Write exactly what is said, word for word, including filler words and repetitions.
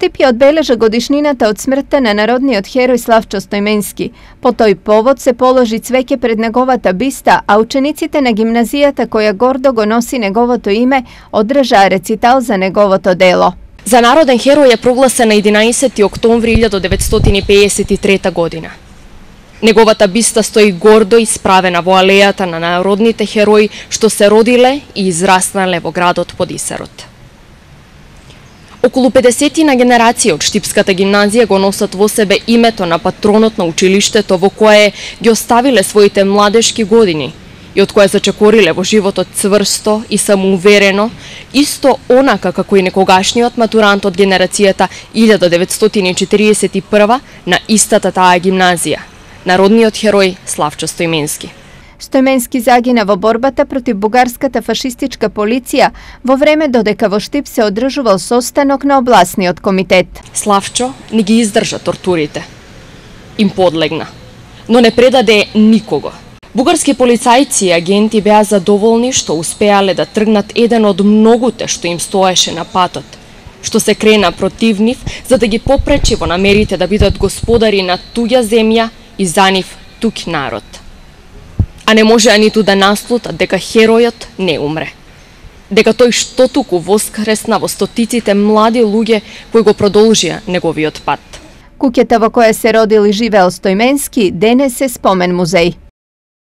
Штип ја одбележа годишнината од смртта на народниот херој Славчо Стојменски. По тој повод се положи цвеќе пред неговата биста, а учениците на гимназијата која гордо го носи неговото име одржаа рецитал за неговото дело. За народен херој е прогласен на единаесети октомври илјадум деветстотини пеесет и трета година. Неговата биста стои гордо исправена во алејата на народните херои што се родиле и израснале во градот Подисарот. Околу педесетина генерации од Штипската гимназија го носат во себе името на патронот на училиштето во кое ги оставиле своите младешки години и од кое зачекориле во животот цврсто и самоуверено, исто онака како и некогашниот матурант од генерацијата илјадум деветстотини четиридесет и прва на истата таа гимназија, народниот херој Славчо Стојменски. Стојменски загина во борбата против бугарската фашистичка полиција во време додека во Штип се одржувал состанок на обласниот комитет. Славчо не ги издржа тортурите. Им подлегна, но не предаде никого. Бугарски полицајци и агенти беа задоволни што успеале да тргнат еден од многуте што им стоеше на патот, што се крена против нив за да ги попречи во намерите да бидат господари на туѓа земја и за нив туѓ народ. А не можеа ниту да наслутат дека херојот не умре. Дека тој што туку воскресна во стотиците млади луѓе кои го продолжија неговиот пат. Куќата во која се родил и живеел Стојменски денес е спомен музеј.